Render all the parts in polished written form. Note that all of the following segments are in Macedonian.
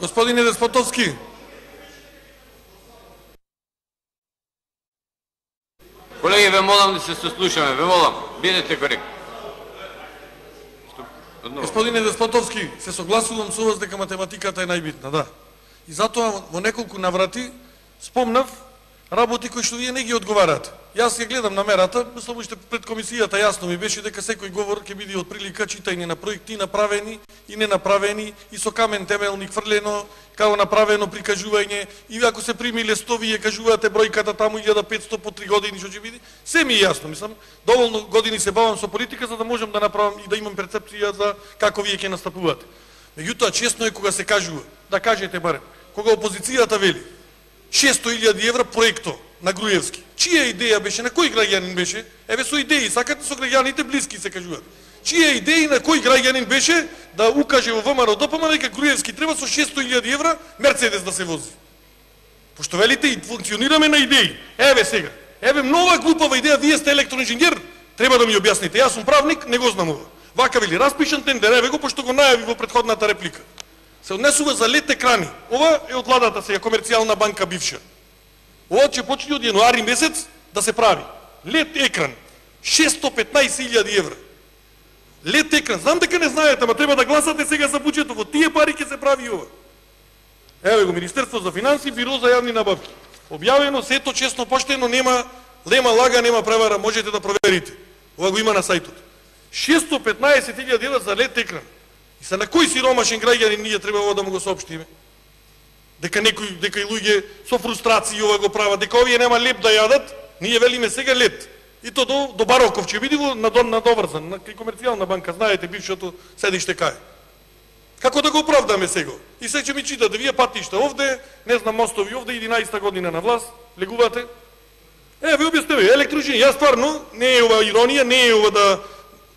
Господине Деспотовски. Колеги, ве молам да се сослушаме, ве молам, бидете коректни. Господине Деспотовски, се согласувам со вас дека математиката е најбитна, да. И затоа во неколку наврати спомнав работи кои што вие не ги одговарате. Јас ја гледам намерата, мислам уште пред комисијата јасно ми беше дека секој говор ќе биде од прилика читање на проекти направени и ненаправени и со камен темелни хврлено, како направено прикажување и ако се прими лестови ја кажувате бројката таму 1500 по 3 години што ќе биде, се ми е јасно, мислам. Доволно години се бавам со политика за да можам да направам и да имам перцепција за како вие ќе настапувате. Меѓутоа честно е кога се кажува, да кажете барем, кога опозицијата вели 600.000 евра проекто на Груевски. Чија идеја беше, на кој граѓанин беше? Еве со идеи, сакате со граѓаните блиски се кажуваат. Чија идеи на кој граѓанин беше да укаже во ВМРО ДПМН дека Груевски треба со 600.000 евра Мерцедес да се вози? Пошто велите и функционираме на идеи. Еве сега, еве нова глупава идеја, вие сте електроинженер, треба да ми објасните. Јас сум правник, не го знам ова. Вака вели, распишан тендер, еве го, пошто го најави во претходната реплика. Се однесува за лед екрани. Ова е од владата сега, Комерцијална банка бивша. Ова ќе почне од јануари месец да се прави. Лед екран, 615.000 евра. Лед екран, знам дека не знаете, ама треба да гласате сега за буџетот. Во тие пари ќе се прави ова. Еве го, Министерство за финанси, Биро за јавни набавки. Објавено, сето честно, поштено, нема лема лага, нема превара, можете да проверите. Ова го има на сајтот. 615.000 евра за лед екран. И са на кој сиромашен граѓанин ние треба ова да му го соопштиме? Дека и луѓе со фрустрации ова го прават, дека овие нема леп да јадат, ние велиме сега лед. И то до Бароков ќе биде на Доврзан, на Комерцијална банка, знаете, бившото седиште кај. Како да го оправдаме сега? И се ќе ми читате, вие патиште овде, не знам, мостови овде, 11-та година на власт, легувате. Ви објаснете, електроинженер, јас стварно, не е ова иронија, не е ова да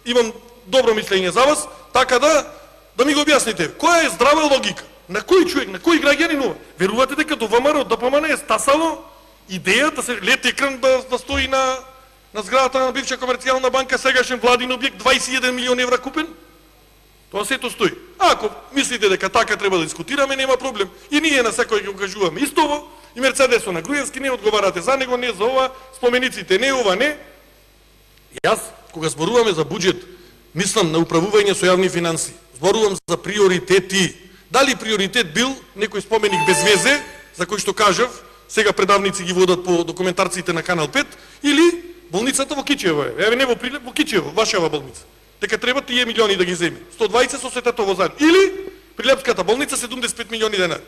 имам добро мислење за вас, така да ми го објасните. Која е здрава логика? На кој човек, на кој граѓанин ова? Верувате дека до ВМРО ДПМН е стасало идеја да се лед екран да стои на зградата на бивша Комерцијална банка, сегашен владин објект, 21 милион евра купен? Тоа сето стои. Ако мислите дека така треба да дискутираме, нема проблем. И ние на секој ќе го кажуваме истово, и Мерцедесо на Груевски не одговарате за него, не за ова, спомениците не, ова не. Јас, кога зборуваме за буџет, мислам на управување со јавни финанси. Зборувам за приоритети. Дали приоритет бил некој споменик без везе, за кој што кажав, сега предавници ги водат по документарциите на Канал 5, или болницата во Кичево е. Еве не во Прилеп, во Кичево, вашава болница. Дека треба тие милиони да ги земе. 120 со светето во заедно. Или Прилепската болница 75 милиони денари.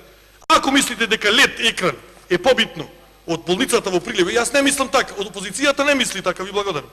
Ако мислите дека лед екран е побитно од болницата во Прилеп, јас не мислам така, од опозицијата не мисли така, ви благодарам.